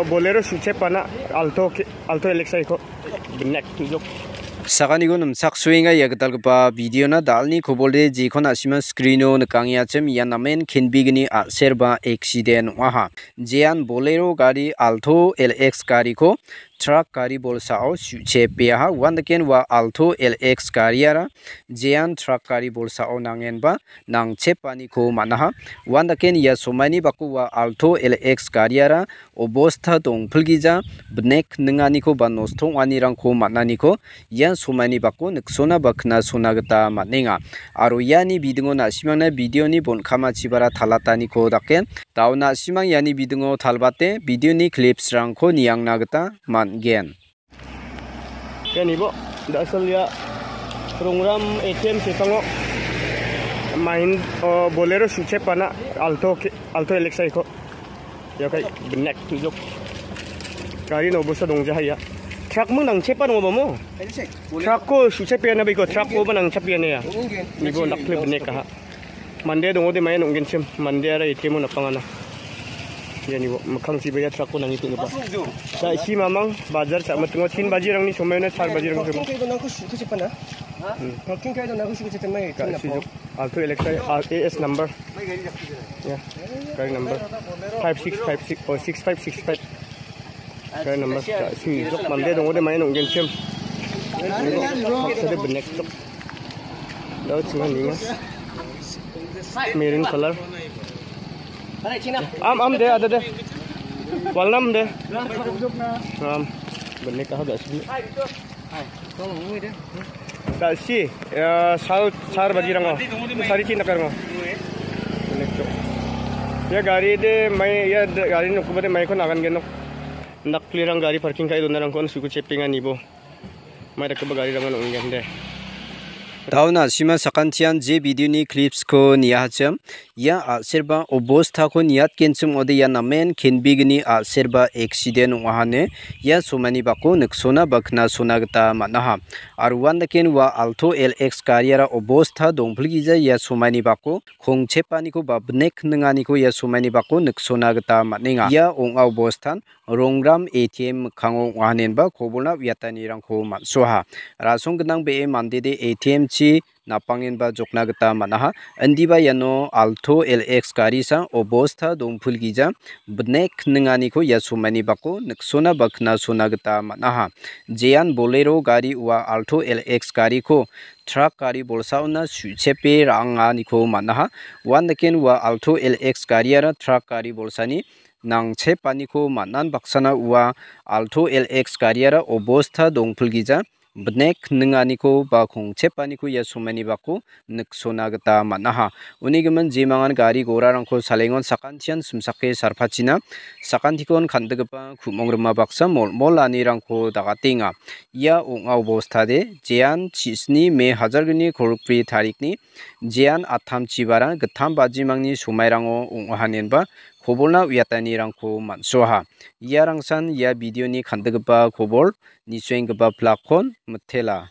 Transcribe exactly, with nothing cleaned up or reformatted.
Bolero suchepana Alto ke-, Alto L X I ko benek tujuk. Sakaniko nimsak suenga ia gitalgipa videona dalni kobolde jekon asima screeno nikangiachim ia namen kenbigni a·serba accident ong·aha. Jean Bolero gari Alto L X gariko truck gari bolsao suchepeaha. Uandaken ua Alto L X gariara jean truck gari bolsao nangenba nangchepaniko man·aha. Uandaken ia somaini bako ua Alto L X gariara obosta dongpilgija, bnek ninganiko ba nosto ong·anirangko man·aniko ia somaini bako niksona ba knasona gita man·enga. Aro iani bidingo na·simangna videoni bon·kamachibara talataniko dake, dao na·simang iani bidingo talbate videoni clipsrangko niangna gita man·gen. Iani bo, da·sal ia Rongram A T M sepango main, o, Bolero suchepana Alto ke-, Alto L X I ko. Ia kai benek tujuk. Gari no bosa dongjaha ia. Truck mung nangchepa dong ba mo? Truck ko suchepeana biko, truck ko ba nangchepeana ia. Ni bo nakle benek aha. Mande dongode maia nonggenchim, mandeara A T M-o napangana. Iani bo, mikkangchiba ia truck-ko nangi penggipa. Sa isi mamang, bajar sa·mitingo tin bajirangni somoiona char bajirang somo. Parking kai donako suku chepana. Hmm. Parking kai donako suku chepana. Ka-, sujuk. Alto L X I, A S number. Ya, gari number. Five six five six, oh, six five six five. Kaya number ka si jok mande dong ode main onggen sim. Sede benek jok. Dau chinga ninga. Maroon color. Am, am de, ada de. Walnam de. Am. Benek ah da si. Dal si, ya, sal, sar baji rango. Sari chin dakar ngo. Ya, gari de mai, ya, de, gari nokku bade mai kon agan genok. Nakli rang gari parking kai dona rang kon suku chepingan ibo. Mai dakba gari rang onggen de. Dauna sima sakantian je video ni clips ko nia hacham. Ia a·serba obostako niatgenchim ong·ode ia namen kenbegni a·serba accident ong·ahane ia somaini bako niksona ba knasona gita man·aha. Aro uandaken ua Alto L X gariara obosta dongpilgija ia somaini bako kongchepaniko ba bnek ninganiko ia somaini bako niksona gita man·enga. Ia ong·a obostan Rongram A T M mikkango ong·ahanenba kobolna uiatanirangko man·soaha. Rasong gnang be·e mandede A T M-chi napangenba jokna gita man·aha. Indiba iano Alto L X gari sa obosta dongpilgija bnek ninganiko ia somaini bako niksona ba knasona gita man·aha. Jean Bolero gari ua Alto L X gariko truck gari bolsaona su·chepe ra·anganiko man·aha. Uandaken ua Alto L X gariara truck gari bolsani nangchepaniko man·an baksana ua Alto L X gariara obosta dongpilgija bnek ninganiko ba kongchepaniko ia somaini bako niksona gita man·aha. Uni gimin jemangan gari gorarangko salengon sakantian simsake sarpachina sakantikon kan·diggipa ku·mong rima baksa molmol anirangko dagatenga. Ia ong·a obostade jean chisni me hajar gni kolgri tarikni jean attam chibara gittam bajimangni somairango ong·ahanenba kobolna uiatanirangko man·soaha. Iarangsan ia video-ni kan·diggipa kobol nisoenggipa plakkon mitela.